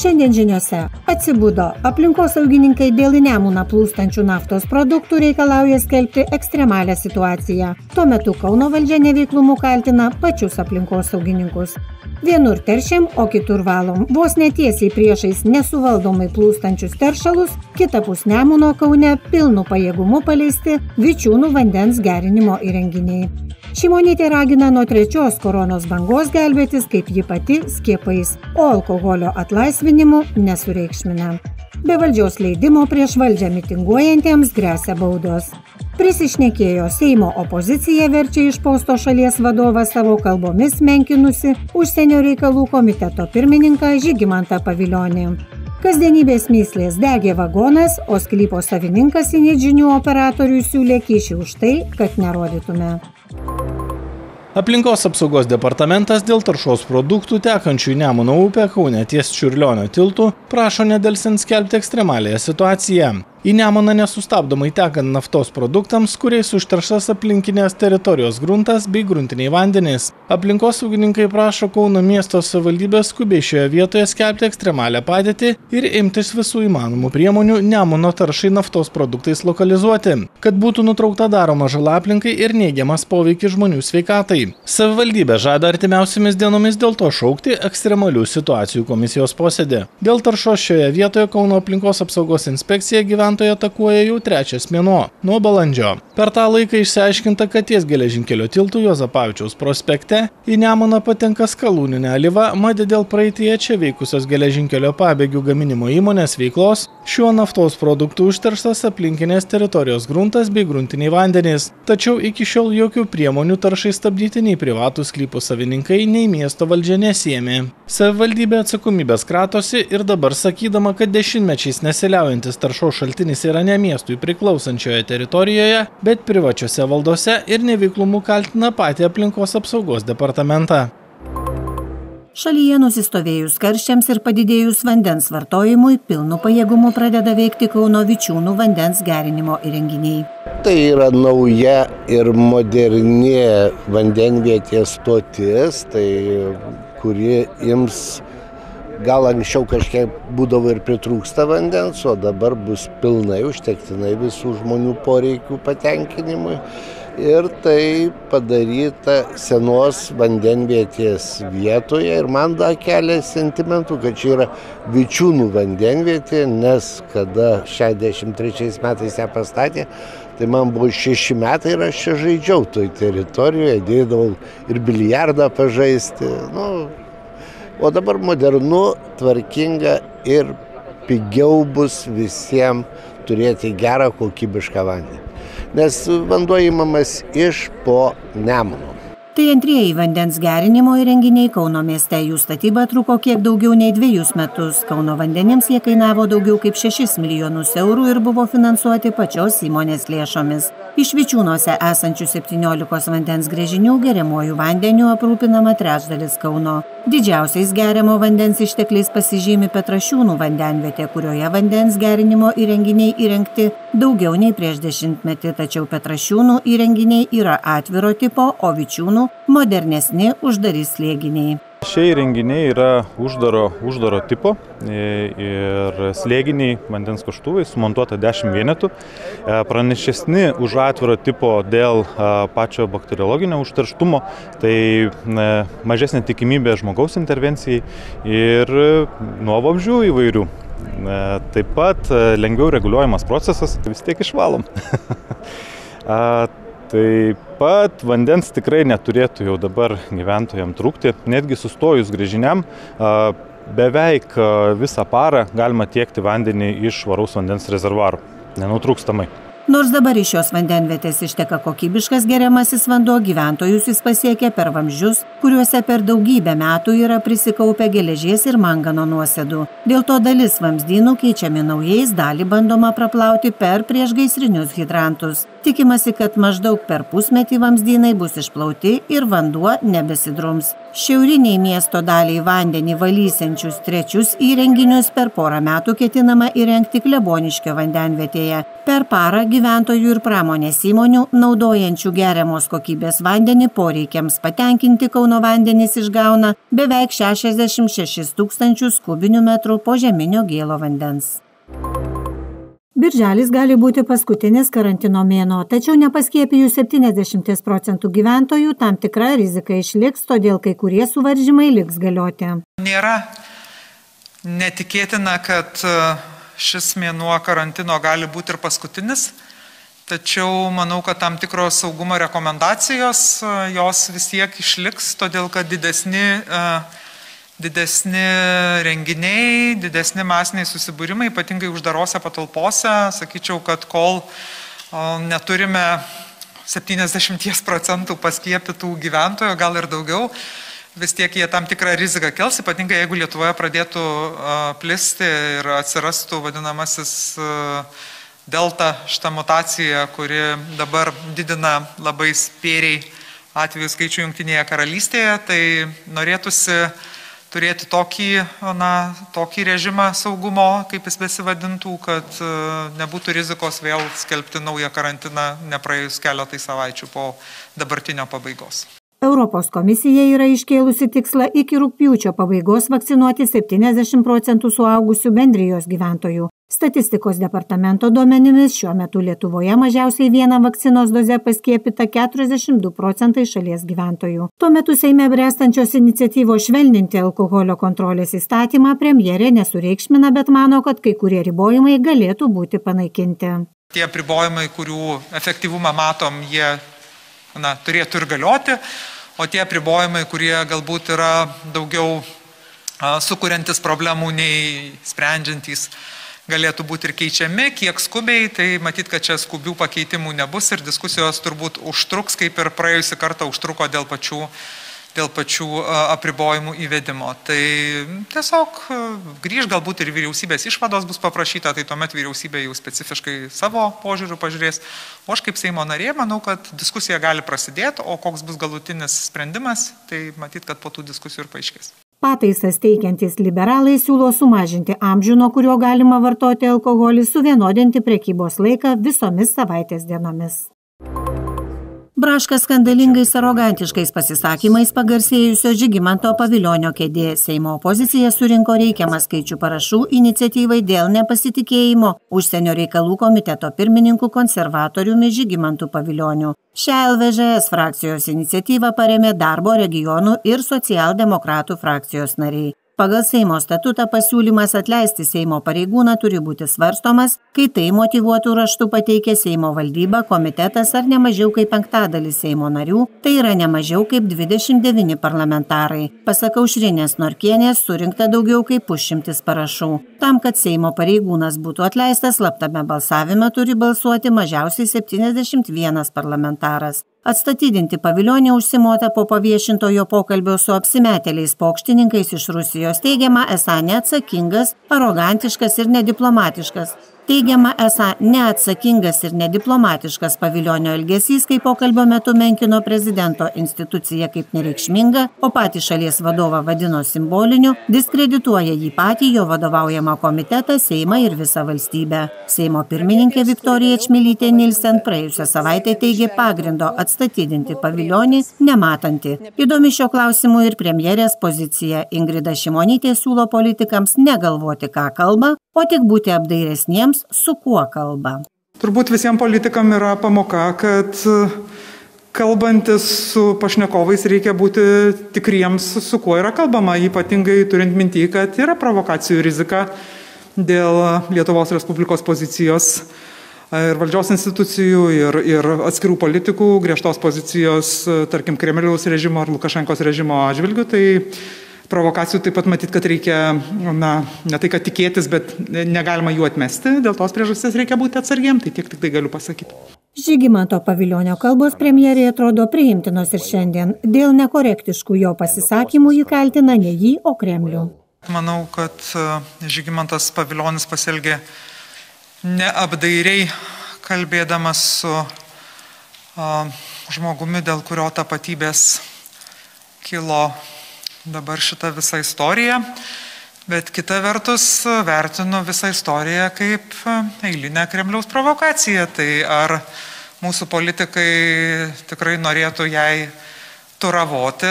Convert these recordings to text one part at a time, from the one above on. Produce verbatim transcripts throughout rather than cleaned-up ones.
Šiandien žiniose atsibudo. Aplinkosaugininkai dėl į Nemuną plūstančių naftos produktų reikalauja skelbti ekstremalią situaciją. Tuo metu Kauno valdžia neveiklumu kaltina pačius aplinkosaugininkus. Vienur teršiam, o kitur valom. Vos netiesiai priešais nesuvaldomai plūstančius teršalus, kitapus Nemuno Kaune pilnu pajėgumu paleisti Vičiūnų vandens gerinimo įrenginiai. Šimonytė ragina nuo trečios koronos bangos gelbėtis, kaip ji pati, skiepais, o alkoholio atlaisvinimu nesureikšmina. Be valdžios leidimo prieš valdžią mitinguojantiems gresia baudos. Prisišnekėjo Seimo opozicija verčia iš posto šalies vadovą savo kalbomis menkinusi užsienio reikalų komiteto pirmininką Žygimantą Pavilionį. Kasdienybės myslės degė vagonas, o sklypo savininkas Init žinių operatoriui siūlė kyšį už tai, kad nerodytume. Aplinkos apsaugos departamentas dėl taršos produktų tekančių į Nemuno upę Kaune ties Čiurlionio tiltu prašo nedelsiant skelbti ekstremaliąją situaciją. Į Nemuną nesustabdomai tekant naftos produktams, kuriais užterštas aplinkinės teritorijos gruntas bei gruntiniai vandenys. Aplinkosaugininkai prašo Kauno miesto savivaldybės skubiai šioje vietoje skelbti ekstremalią padėtį ir imtis visų įmanomų priemonių Nemuno taršai naftos produktais lokalizuoti, kad būtų nutraukta daroma žala aplinkai ir neigiamas poveikis žmonių sveikatai. Savivaldybė žada artimiausiamis dienomis dėl to šaukti ekstremalių situacijų komisijos posėdį. Dėl taršos šioje vietoje Kauno aplinkos apsaugos inspekcija gyventojų atakuoja jau trečias mėnuo, nuo balandžio. Per tą laiką išsiaiškinta, kad ties geležinkelio tiltų Juozapavičiaus prospekte į Nemuną patenka skalūninė alyva, mat dėl praeityje čia veikusios geležinkelio pabėgių gaminimo įmonės veiklos šiuo naftos produktų užterštas aplinkinės teritorijos gruntas bei gruntiniai vandenys. Tačiau iki šiol jokių priemonių taršai stabdyti nei privatūs sklypų savininkai, nei miesto valdžia nesiėmė. Savivaldybė atsakomybės kratosi ir dabar sakydama, kad dešimtmečiais nesiliaujantis taršos šaltinis yra ne miestui priklausančioje teritorijoje, bet privačiose valdose ir neveiklumu kaltina patį aplinkos apsaugos departamentą. Šalyje nusistovėjus karščiams ir padidėjus vandens vartojimui, pilnu pajėgumu pradeda veikti Kauno Vičiūnų vandens gerinimo įrenginiai. Tai yra nauja ir moderni vandenvietės stotis, tai kuri ims, gal anksčiau kažkiek būdavo ir pritrūksta vandens, o dabar bus pilnai užtektinai visų žmonių poreikių patenkinimui. Ir tai padaryta senos vandenvietės vietoje ir man da kelia sentimentų, kad čia yra Vičiūnų vandenvietė, nes kada šešiasdešimt trečiais metais ją pastatė, tai man buvo šeši metai ir aš čia žaidžiau toj teritorijoje, dėdavau ir biliardą pažaisti. Nu, o dabar modernu, tvarkinga ir pigiau bus visiems turėti gerą kokybišką vandenį. Nes vanduo imamas iš po Nemuno. Tai antrieji vandens gerinimo įrenginiai Kauno mieste. Jų statyba truko kiek daugiau nei dviejus metus. Kauno vandenims jie kainavo daugiau kaip šešis milijonus eurų ir buvo finansuoti pačios įmonės lėšomis. Iš Vičiūnuose esančių septyniolikos vandens gręžinių geriamuoju vandeniu aprūpinama trečdalis Kauno. Didžiausiais geriamo vandens ištekliais pasižymi Petrašiūnų vandenvietė, kurioje vandens gerinimo įrenginiai įrengti daugiau nei prieš dešimtmetį, tačiau Petrašiūnų įrenginiai yra atviro tipo, o Vičiūnų modernesni uždari slėginiai. Šie įrenginiai yra uždaro, uždaro tipo ir slėginiai vandens kaštuvai, sumontuota dešimt vienetų. Pranešesni už atviro tipo dėl pačio bakteriologinio užterštumo, tai mažesnė tikimybė žmogaus intervencijai ir nuo vabzdžių įvairių. Taip pat lengviau reguliuojamas procesas, vis tiek išvalom. Taip pat vandens tikrai neturėtų jau dabar gyventojams trūkti, netgi sustojus gręžiniam, beveik visą parą galima tiekti vandenį iš švaraus vandens rezervuarų, nenutrūkstamai. Nors dabar iš šios vandenvietės išteka kokybiškas geriamasis vanduo, gyventojus jis pasiekia per vamzdžius, kuriuose per daugybę metų yra prisikaupę geležies ir mangano nuosėdų. Dėl to dalis vamzdynų keičiami naujais, dalį bandoma praplauti per priešgaisrinius hidrantus. Tikimasi, kad maždaug per pusmetį vamzdynai bus išplauti ir vanduo nebesidrums. Šiauriniai miesto daliai vandenį valysiančius trečius įrenginius per porą metų ketinama įrengti Kleboniškio vandenvietėje. Per parą gyventojų ir pramonės įmonių, naudojančių geriamos kokybės vandenį poreikiams patenkinti, Kauno vandenys išgauna beveik šešiasdešimt šešis tūkstančius kubinių metrų požeminio gėlo vandens. Birželis gali būti paskutinis karantino mėnuo, tačiau nepaskiepijus septyniasdešimt procentų gyventojų tam tikra rizika išliks, todėl kai kurie suvaržymai liks galioti. Nėra netikėtina, kad šis mėnuo karantino gali būti ir paskutinis, tačiau manau, kad tam tikros saugumo rekomendacijos jos vis tiek išliks, todėl kad didesni Didesni renginiai, didesni masiniai susibūrimai, ypatingai uždarose patalpose, sakyčiau, kad kol neturime septyniasdešimt procentų paskiepytų gyventojų, gal ir daugiau, vis tiek jie tam tikrą riziką kels, ypatingai jeigu Lietuvoje pradėtų plisti ir atsirastų vadinamasis delta, šita mutacija, kuri dabar didina labai spėriai atvejų skaičių Jungtinėje karalystėje, tai norėtųsi turėti tokį, na, tokį režimą saugumo, kaip jis besivadintų, kad nebūtų rizikos vėl skelbti naują karantiną nepraėjus keletai savaičių po dabartinio pabaigos. Europos komisija yra iškėlusi tikslą iki rugpjūčio pabaigos vakcinuoti septyniasdešimt procentų suaugusių bendrijos gyventojų. Statistikos departamento duomenimis šiuo metu Lietuvoje mažiausiai vieną vakcinos dozę paskiepyta keturiasdešimt du procentai šalies gyventojų. Tuo metu Seime bręstančios iniciatyvos švelninti alkoholio kontrolės įstatymą premjerė nesureikšmina, bet mano, kad kai kurie ribojimai galėtų būti panaikinti. Tie apribojimai, kurių efektyvumą matom, jie na, turėtų ir galioti, o tie apribojimai, kurie galbūt yra daugiau a, sukuriantis problemų nei sprendžiantys, galėtų būti ir keičiami, kiek skubiai, tai matyt, kad čia skubių pakeitimų nebus ir diskusijos turbūt užtruks, kaip ir praėjusį kartą užtruko dėl pačių, dėl pačių apribojimų įvedimo. Tai tiesiog grįž galbūt ir vyriausybės išvados bus paprašyta, tai tuomet vyriausybė jau specifiškai savo požiūrių pažiūrės. O aš kaip Seimo narė manau, kad diskusija gali prasidėti, o koks bus galutinis sprendimas, tai matyt, kad po tų diskusijų ir paaiškės. Pataisas teikiantys liberalai siūlo sumažinti amžių, nuo kurio galima vartoti alkoholį, suvienodinti prekybos laiką visomis savaitės dienomis. Braška skandalingais arogantiškais pasisakymais pagarsėjusio Žygimanto Pavilionio kėdė. Seimo opozicija surinko reikiamą skaičių parašų iniciatyvai dėl nepasitikėjimo užsienio reikalų komiteto pirmininku konservatoriumi Žygimantu Pavilioniu. Šią L V Ž S frakcijos iniciatyvą parėmė Darbo, regionų ir socialdemokratų frakcijos nariai. Pagal Seimo statutą pasiūlymas atleisti Seimo pareigūną turi būti svarstomas, kai tai motyvuotų raštu pateikia Seimo valdyba, komitetas ar nemažiau kaip penktadalis Seimo narių, tai yra nemažiau kaip dvidešimt devyni parlamentarai. Pasak Aušrinės Norkienės, surinkta daugiau kaip pusšimtis parašų. Tam, kad Seimo pareigūnas būtų atleistas, slaptame balsavime turi balsuoti mažiausiai septyniasdešimt vienas parlamentaras. Atstatydinti Pavilionį užsimota po paviešintojo pokalbio su apsimetėliais pokštininkais iš Rusijos, teigiama esą neatsakingas, arogantiškas ir nediplomatiškas. Teigiama esą neatsakingas ir nediplomatiškas Pavilionio elgesys, kai pokalbio metu menkino prezidento instituciją kaip nereikšmingą, o patį šalies vadovą vadino simboliniu, diskredituoja jį patį, jo vadovaujamą komitetą, Seimą ir visą valstybę. Seimo pirmininkė Viktorija Čmilytė Nilsen praėjusią savaitę teigė pagrindo atstatydinti Pavilionį nematanti. Įdomi šio klausimu ir premjerės pozicija. Ingrida Šimonytė siūlo politikams negalvoti, ką kalba, o tik būti apdairesniems, su kuo kalba. Turbūt visiems politikam yra pamoka, kad kalbantis su pašnekovais reikia būti tikriems, su kuo yra kalbama, ypatingai turint minty, kad yra provokacijų rizika dėl Lietuvos Respublikos pozicijos ir valdžios institucijų, ir, ir atskirų politikų, griežtos pozicijos, tarkim, Kremliaus režimo ar Lukašenkos režimo atžvilgių. Tai provokacijų taip pat matyt, kad reikia, na, ne tai, kad tikėtis, bet negalima jų atmesti. Dėl tos priežasties reikia būti atsargiem, tai tiek tik tai galiu pasakyti. Žygimanto Pavilionio kalbos premjerė atrodo priimtinos ir šiandien. Dėl nekorektiškų jo pasisakymų jį kaltina ne jį, o Kremlių. Manau, kad Žygimantas Pavilionis pasielgė neapdairiai, kalbėdamas su a, žmogumi, dėl kurio tapatybės kilo dabar šitą visą istoriją, bet kita vertus vertinu visą istoriją kaip eilinę Kremliaus provokaciją. Tai ar mūsų politikai tikrai norėtų jai turavoti?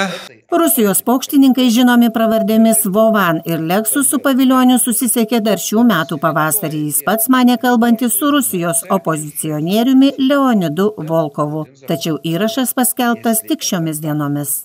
Rusijos paukštininkai žinomi pravardėmis Vovan ir Lexus su Pavilioniu susisiekė dar šių metų pavasarį. Jis pats manė kalbantis su Rusijos opozicionieriumi Leonidu Volkovu. Tačiau įrašas paskelbtas tik šiomis dienomis.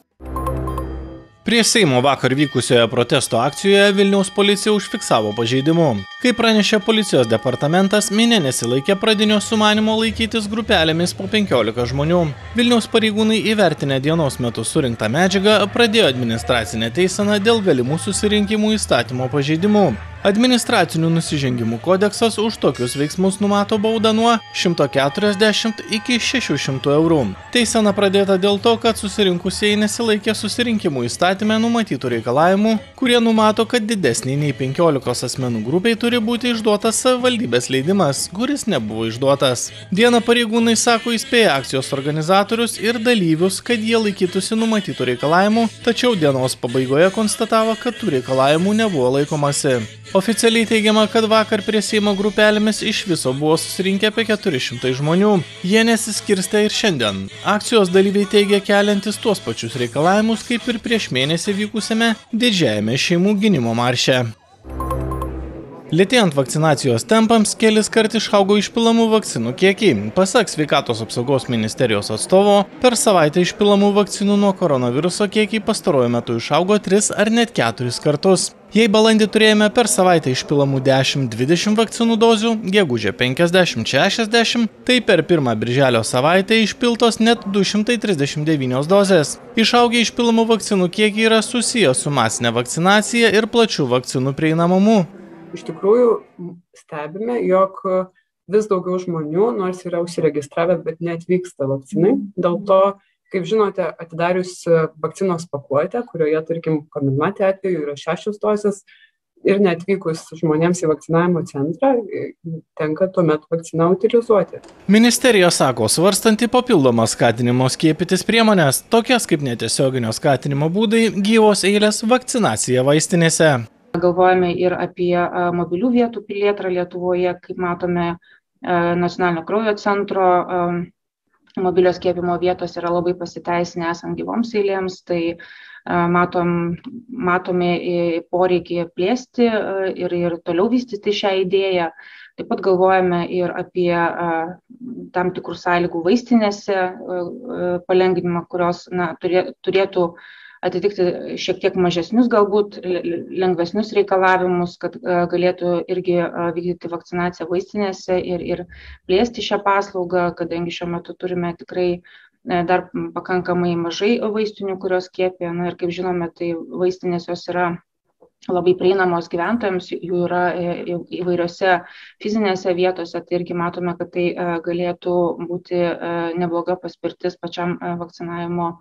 Prie Seimo vakar vykusioje protesto akcijoje Vilniaus policija užfiksavo pažeidimų. Kaip pranešė policijos departamentas, minia nesilaikė pradinio sumanimo laikytis grupelėmis po penkiolika žmonių. Vilniaus pareigūnai įvertinę dienos metu surinktą medžiagą pradėjo administracinę teiseną dėl galimų susirinkimų įstatymo pažeidimų. Administracinių nusižengimų kodeksas už tokius veiksmus numato baudą nuo šimto keturiasdešimt iki šešių šimtų eurų. Teisena pradėta dėl to, kad susirinkusieji nesilaikė susirinkimų įstatyme numatytų reikalavimų, kurie numato, kad didesniai nei penkiolikos asmenų grupiai turi būti išduotas savivaldybės leidimas, kuris nebuvo išduotas. Dieną pareigūnai sako įspėję akcijos organizatorius ir dalyvius, kad jie laikytųsi numatytų reikalavimų, tačiau dienos pabaigoje konstatavo, kad tų reikalavimų nebuvo laikomasi. Oficialiai teigiama, kad vakar prie Seimo grupelėmis iš viso buvo susirinkę apie keturi šimtai žmonių. Jie nesiskirstė ir šiandien. Akcijos dalyviai teigia keliantis tuos pačius reikalavimus, kaip ir prieš mėnesį vykusiame didžiajame šeimų gynimo marše. Lėtėjant vakcinacijos tempams, kelis kart išaugo išpilamų vakcinų kiekiai. Pasak Sveikatos apsaugos ministerijos atstovo, per savaitę išpilamų vakcinų nuo koronaviruso kiekiai pastaruoju metu išaugo tris ar net keturis kartus. Jei balandį turėjome per savaitę išpilamų dešimt dvidešimt vakcinų dozių, gegužę penkiasdešimt šešiasdešimt, tai per pirmą birželio savaitę išpiltos net du šimtai trisdešimt devynios dozės. Išaugę išpilamų vakcinų kiekiai yra susiję su masinė vakcinacija ir plačių vakcinų prieinamumu. Iš tikrųjų stebime, jog vis daugiau žmonių, nors yra užsiregistravę, bet neatvyksta vakcinai. Dėl to, kaip žinote, atidarius vakcinos pakuotę, kurioje, tarkim, Comirnaty atveju yra šešios dozės ir neatvykus žmonėms į vakcinavimo centrą, tenka tuomet vakciną utilizuoti. Ministerija sako, svarstanti papildomas skatinimo skiepytis priemonės, tokias kaip netiesioginio skatinimo būdai, gyvos eilės, vakcinacija vaistinėse. Galvojame ir apie mobilių vietų plėtrą Lietuvoje, kaip matome, Nacionalinio kraujo centro mobilios skiepimo vietos yra labai pasiteisinę esant gyvoms eilėms, tai matom, matome poreikį plėsti ir, ir toliau vystyti šią idėją. Taip pat galvojame ir apie tam tikrų sąlygų vaistinėse palengvinimą, kurios na, turėtų atitikti šiek tiek mažesnius, galbūt lengvesnius reikalavimus, kad galėtų irgi vykdyti vakcinaciją vaistinėse ir, ir plėsti šią paslaugą, kadangi šiuo metu turime tikrai dar pakankamai mažai vaistinių, kurios skiepia. Na ir kaip žinome, tai vaistinės jos yra labai prieinamos gyventojams, jų yra įvairiose fizinėse vietose, tai irgi matome, kad tai galėtų būti nebloga paspirtis pačiam vakcinavimo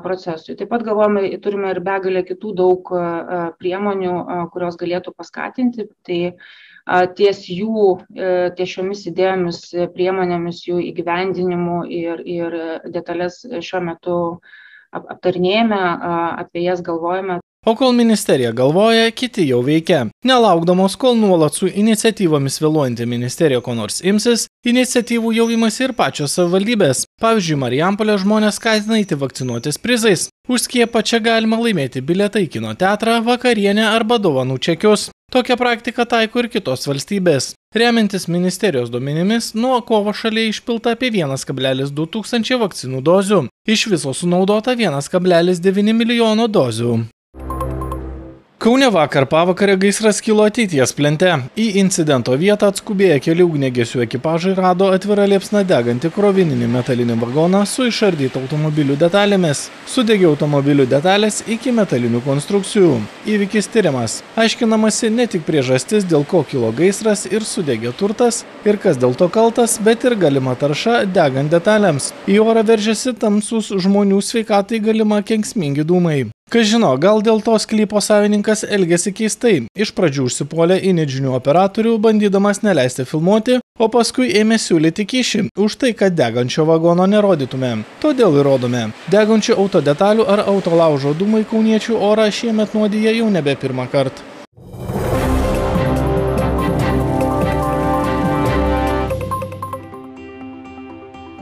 procesui. Taip pat galvojame, turime ir begalę kitų daug priemonių, kurios galėtų paskatinti. Tai ties jų, ties šiomis idėjomis, priemonėmis, jų įgyvendinimu ir, ir detalės šiuo metu aptarinėjame, apie jas galvojame. O kol ministerija galvoja, kiti jau veikia. Nelaukdamos, kol nuolat su iniciatyvomis vėluojanti ministerija ko nors imsis, iniciatyvų jau imasi ir pačios savivaldybės. Pavyzdžiui, Marijampolė žmonės skatina eiti vakcinuotis prizais. Už skiepą čia galima laimėti bilietą į kino teatrą, vakarienę arba dovanų čekius. Tokią praktiką taiko ir kitos valstybės. Remiantis ministerijos duomenimis, nuo kovo šalyje išpilta apie vienas kablelis du tūkstančiai vakcinų dozių. Iš viso sunaudota vienas kablelis devyni milijono dozių. Kaune vakar pavakarę gaisras kilo ateities plente. Į incidento vietą atskubėję keli ugniagesių ekipažai rado atvirą liepsną degantį krovininį metalinį vagoną su išardyta automobilių detalėmis. Sudegė automobilių detalės iki metalinių konstrukcijų. Įvykis tyriamas. Aiškinamasi ne tik priežastis, dėl ko kilo gaisras ir sudegė turtas, ir kas dėl to kaltas, bet ir galima tarša degant detalėms. Į orą veržiasi tamsus žmonių sveikatai galima kenksmingi dūmai. Kas žino, gal dėl to sklypo savininkas elgėsi keistai. Iš pradžių užsipuolė inidžinių operatorių, bandydamas neleisti filmuoti, o paskui ėmė siūlyti kyšį už tai, kad degančio vagono nerodytume. Todėl įrodome. Degančių autodetalių ar autolaužo dūmai kauniečių orą šiemet nuodyje jau nebe pirmą kartą.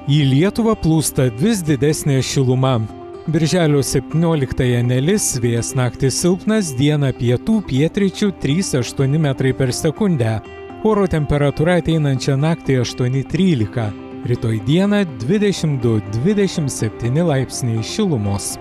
Į Lietuvą plūsta vis didesnė šiluma. Birželio septynioliktąją nelis, vėjas naktį silpnas, dieną pietų pietryčių trys aštuoni metrai per sekundę. Oro temperatūra ateinančią naktį aštuoni trylika. Rytoj dieną dvidešimt du dvidešimt septyni laipsniai šilumos.